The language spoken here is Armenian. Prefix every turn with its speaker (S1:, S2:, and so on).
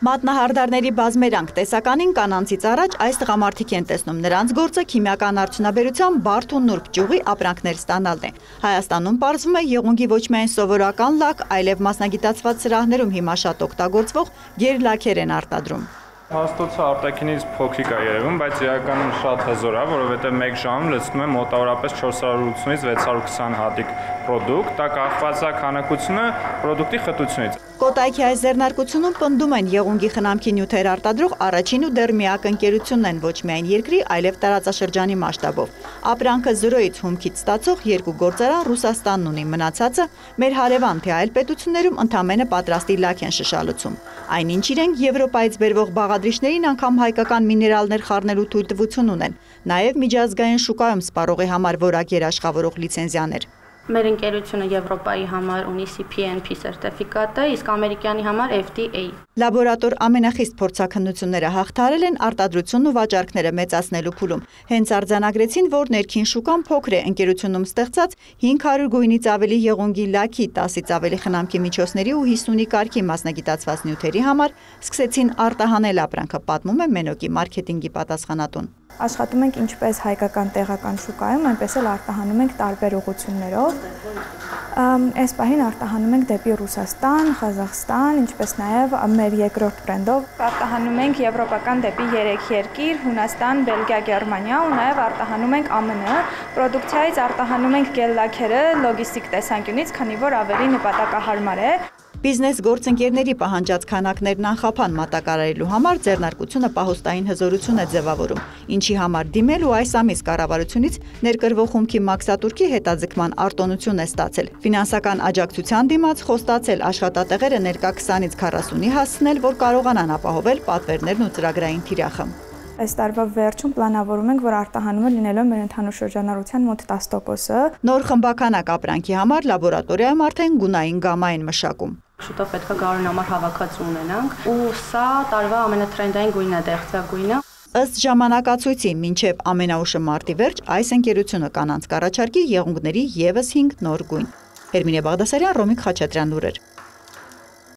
S1: Մատնահարդարների բազմերանք տեսականին կանանցից առաջ այս տղամարդիկ են տեսնում նրանց գործը քիմիական արդյունաբերության բարդ ու նուրբ ճյուղի ապրանքներ ստանալն է։ Հայաստանում պարզվում է եղունգի ոչ միայն սովորական լակ, այլև մասնագիտացված սրահներում հիմա շատ օգտագործվող գերլաքեր են արտադրում։
S2: Հաստոցը արտաքինից փոքրիկ է երևում, բայց իրականում շատ հզոր է, որովհետև 1 ժամում լցնում է մոտավորապես 480-ից 620 հատիկ պրոդուկտ, դա կախված է քանակությունը պրոդուկտի խտությունից։
S1: Կոտայքի այս ձեռնարկությունում պնդում են եղունգի խնամքի նյութեր արտադրող առաջին ու դեռ միակ ընկերությունն են ոչ միայն երկրի, այլև տարածաշրջանի մասշտաբով։ Ապրանքը 0-ից հումքից ստացող 2 գործարան Ռուսաստանն ունի, մնացածը մեր հարևան թե այլ պետություններում ընդամենը պատրաստի լաք են շշալցում։ Այնինչ իրենք Եվրոպայից բերվող բաղադրիչներին անգամ հայկական միներալներ խառնելու թույլտվություն ունեն, նաև միջազգային շուկայում սպառողի համար որակ երաշխավորող լիցենզիաներ։
S3: Մեր ընկերությունը Եվրոպայի համար ունի CPNP սերտիֆիկատը, իսկ ամերիկյանի համար FDA։
S1: Լաբորատոր ամենախիստ փորձաքննությունները հաղթահարել են արտադրությունն ու վաճառքները մեծացնելու փուլում։ Հենց արձանագրեցին, որ ներքին շուկան փոքր է, ընկերությունում ստեղծած 500 գույնից ավելի եղունգի լաքի, 10-ից ավելի խնամքի միջոցների ու 50-ի կարգի մասնագիտացված նյութերի համար սկսեցին արտահանել ապրանքը, պատմում է Մենոկի մարքեթինգի պատասխանատուն։
S4: Աշխատում ենք ինչպես հայկական տեղական շուկայում, այնպես էլ արտահանում ենք տարբեր ուղղություններով։ Այս պահին արտահանում ենք դեպի Ռուսաստան, Ղազախստան, ինչպես նաև մեր երկրորդ բրենդով արտահանում ենք եվրոպական դեպի 3 երկիր՝ Հունաստան, Բելգիա, Գերմանիա ու նաև արտահանում ենք ԱՄՆ։ Պրոդուկցիայից արտահանում ենք գել-լաքերը լոգիստիկ տեսանկյունից, քանի որ ավելի նպատակահարմար է։
S1: Բիզնես գործընկերների պահանջած քանակներն անխափան մատակարարելու համար ձեռնարկությունը պահոստային հզորություն է ձևավորում, ինչի համար դիմել ու այս ամիս կառավարությունից ներկրվող հումքի մաքսատուրքի հետաձգման արտոնություն է ստացել։ Ֆինանսական աջակցության դիմաց խոստացել աշխատատեղերը ներկա 20-ից 40-ի հասցնել, որ կարողանան ապահովել պատվերներն ու ծրագրային թիրախը։
S4: Այս տարվա վերջում պլանավորում ենք, որ արտահանումը լինելով մեր ընդհանուր շրջանառության մոտ 10%-ը։
S1: Նոր խմբականակ ապրանքի համար լաբորատորիայում արդեն գունային գամմա են մշակում։
S3: Շուտով պետք է գարուն համար հավաքածու ունենանք, ու սա տարվա ամենաթրենդային գույնն է, դեղցագույնը։
S1: Ըստ ժամանակացույցի, մինչև ամենաուշը մարտի վերջ այս ընկերությունը կանանց կառաջարկի եղունգների ևս 5 նոր գույն։ Հերմինե Բաղդասարյան, Ռոմիկ Խաչատրյան լուրեր։